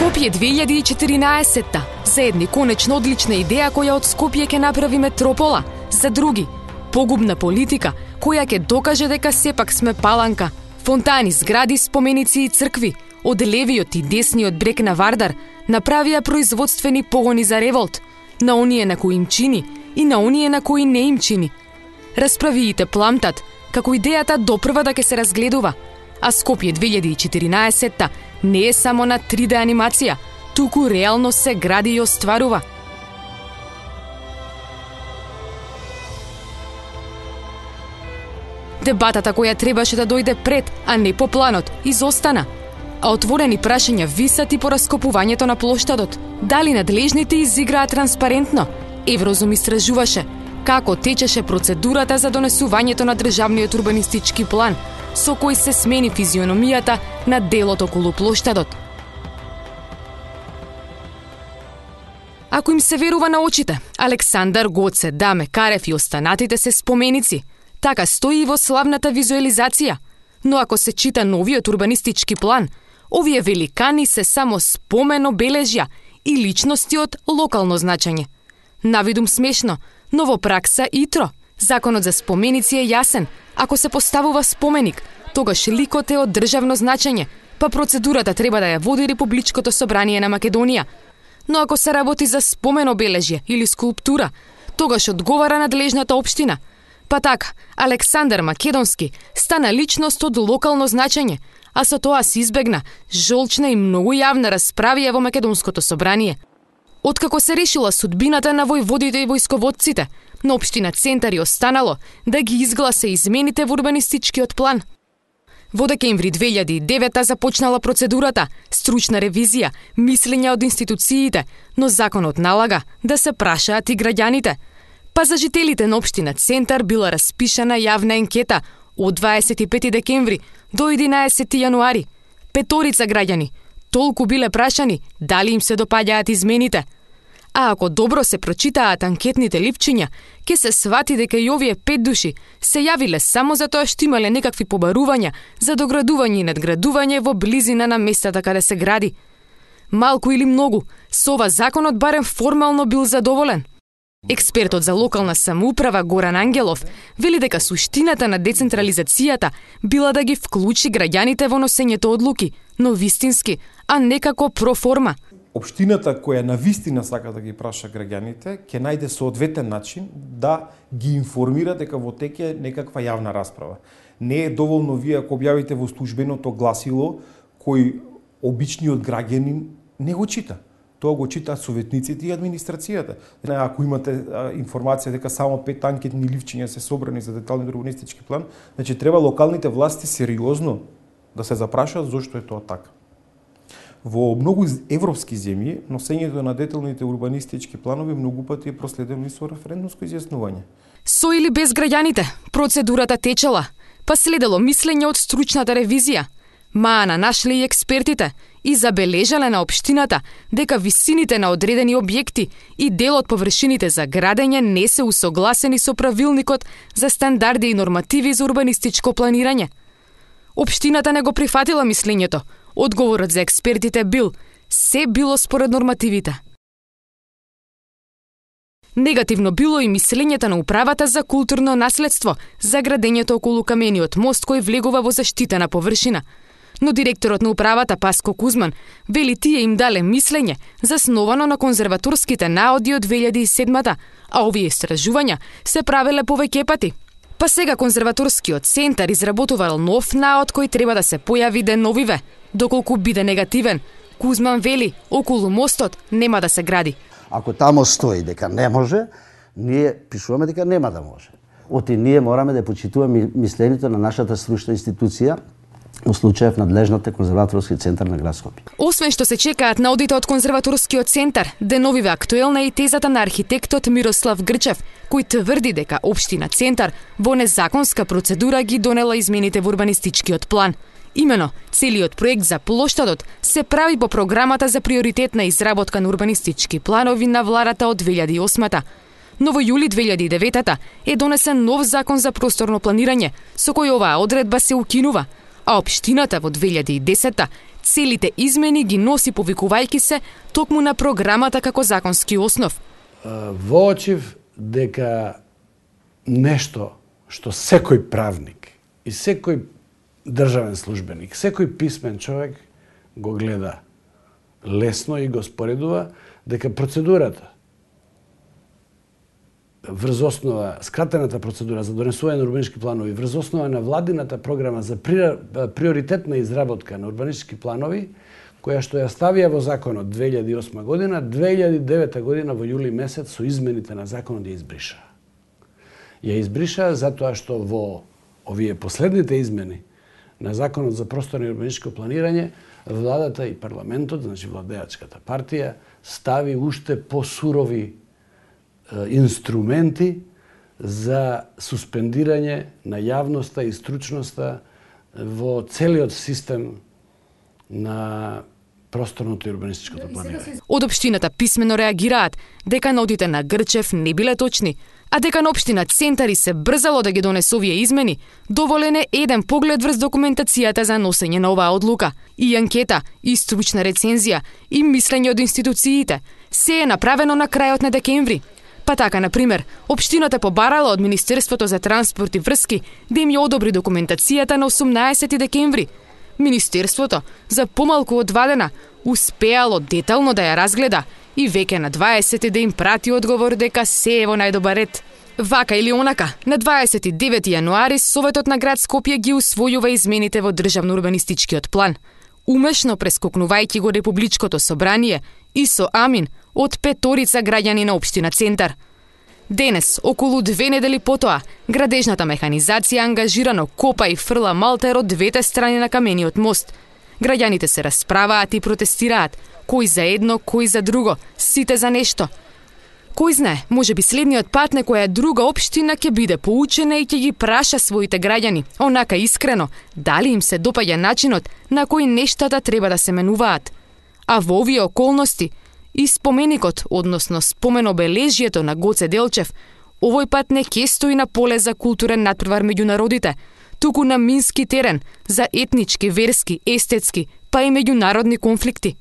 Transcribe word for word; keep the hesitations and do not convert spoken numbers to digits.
Скопје две илјади и четиринаесетта. За едни конечно одлична идеја која од Скопје ќе направи метропола, за други погубна политика која ќе докаже дека сепак сме паланка. Фонтани, згради, споменици и цркви од левиот и десниот брег на Вардар направија производствени погони за револт на оние на кои им чини и на оние на кои не им чини. Расправиите пламтат како идејата допрва да ќе се разгледува, а Скопје две илјади и четиринаесетта не е само на три де анимација, туку реално се гради и остварува. Дебатата која требаше да дојде пред, а не по планот, изостана. А отворени прашања висат и по раскопувањето на плоштадот. Дали надлежните изиграа транспарентно? Еврозум истражуваше како течеше процедурата за донесувањето на државниот урбанистички план, со кој се смени физиономијата на делот околу плоштадот. Ако им се верува на очите, Александар, Гоце, Даме, Карев и останатите се споменици. Така стои и во славната визуализација. Но ако се чита новиот урбанистички план, овие великани се само спомен обележја и личности од локално значење. Навидум смешно, но во пракса итро. Законот за споменици е јасен. Ако се поставува споменик, тогаш ликот е од државно значење, па процедурата треба да ја води Републичкото собрание на Македонија. Но ако се работи за спомен обележје или скулптура, тогаш одговара надлежната општина. Па така, Александар Македонски стана личност од локално значење, а со тоа се избегна жолчна и многу јавна расправија во Македонското собрание. Откако се решила судбината на војводите и војсководците, на општина Центар и останало да ги изгласа измените во урбанистичкиот план. Во декември две илјади и девета започнала процедурата, стручна ревизија, мислења од институциите, но законот налага да се прашаат и граѓаните. Па за жителите на општина Центар била распишана јавна енкета од дваесет и пети декември до единаесети јануари. Петорица граѓани толку биле прашани дали им се допаѓаат измените. А ако добро се прочитаат анкетните липчиња, ќе се свати дека и овие пет души се јавиле само затоа што имале некакви побарувања за доградување и надградување во близина на местата каде се гради. Малку или многу, со ова законот барем формално бил задоволен. Експертот за локална самоуправа Горан Ангелов вели дека суштината на децентрализацијата била да ги вклучи граѓаните во носењето одлуки, но вистински, а не како проформа. Општината која навистина сака да ги праша граѓаните, ќе најде соодветен начин да ги информира дека во теке некаква јавна расправа. Не е доволно вие ако објавите во службеното гласило кој обичниот граѓанин не го чита. Тоа го читаат советниците и администрацијата. Ако имате а, информација дека само пет анкетни ливчиња се собрани за деталниот урбанистички план, значи треба локалните власти сериозно да се запрашаат зошто е тоа така. Во многу европски земји, носењето на деталните урбанистички планови многу пати е проследено и со референдумско изјаснување. Со или без граѓаните, процедурата течела, па следело мислење од стручната ревизија. Маана нашле и експертите и забележале на општината дека висините на одредени објекти и дел од површините за градење не се усогласени со правилникот за стандарди и нормативи за урбанистичко планирање. Општината не го прифатила мислењето. Одговорот за експертите бил се било според нормативите. Негативно било и мислењето на управата за културно наследство за градењето околу камениот мост кој влегува во заштитена површина. Но директорот на управата Паско Кузман вели тие им дале мислење засновано на конзерваторските наоди од две илјади и седмата, а овие истражувања се правеле повеќе пати. Па сега конзерваторскиот центар изработувал нов наод кој треба да се појави деновиве. Доколку биде негативен, Кузман вели околу мостот нема да се гради. Ако тамо стои дека не може, ние пишуваме дека нема да може. Оти ние мораме да почитуваме мислењето на нашата стручна институција, во случајов надлежната конзерваторски центар на град Скопје. Освен што се чекаат наодите од конзерваторскиот центар, деновиве актуелна е и тезата на архитектот Мирослав Грчев, кој тврди дека општина Центар во незаконска процедура ги донела измените во урбанистичкиот план. Имено, целиот проект за плоштадот се прави по програмата за приоритетна изработка на урбанистички планови на владата од две илјади и осмата. Но во јули две илјади и деветата е донесен нов закон за просторно планирање, со кој оваа одредба се укинува, а општината во две илјади и десета Целите измени ги носи повикувајќи се токму на програмата како законски основ. Воочив дека нешто што секој правник и секој државен службеник, секој писмен човек го гледа лесно и го споредува, дека процедурата врз основа, скратената процедура за донесување на урбанистички планови, врз основа на владината програма за приоритетна изработка на урбанистички планови, која што ја ставија во законот две илјади и осма година, две илјади и девета година во јули месец со измените на законот ја избриша. Ја избриша затоа што во овие последните измени на законот за просторно и урбанистичко планирање, владата и парламентот, значи владеачката партија, стави уште посурови инструменти за суспендирање на јавноста и стручноста во целиот систем на просторното и урбанистичкото планирање. Од општината писмено реагираат дека нотите на Грчев не биле точни, а дека на општина Центари се брзало да ги донесе овие измени, доволен е еден поглед врз документацијата за носење на оваа одлука. И анкета, и стручна рецензија, и мислење од институциите. Се е направено на крајот на декември. Па така, например, општината побарала од Министерството за транспорт и врски да им ја одобри документацијата на осумнаесети декември. Министерството, за помалку од два дена, успеало детално да ја разгледа и веќе на дваесети да им прати одговор дека се е во најдобар ред. Вака или онака, на дваесет и девети јануари Советот на град Скопје ги усвојува измените во државно-урбанистичкиот план. Умешно прескокнувајќи го Републичкото собрание и со амин од петорица граѓани на општина Центар. Денес, околу две недели потоа, градежната механизација ангажирано копа и фрла малтер од двете страни на камениот мост. Граѓаните се расправаат и протестираат, кој за едно, кој за друго, сите за нешто. Кој знае, може би следниот пат некоја друга општина ќе биде поучена и ќе ги праша своите граѓани, онака искрено, дали им се допаѓа начинот на кој нештата треба да се менуваат. А во овие околности, и споменикот, односно споменобележјето на Гоце Делчев, овој пат не ќе стои на поле за културен надпревар меѓу народите, туку на мински терен за етнички, верски, естетски, па и меѓународни конфликти.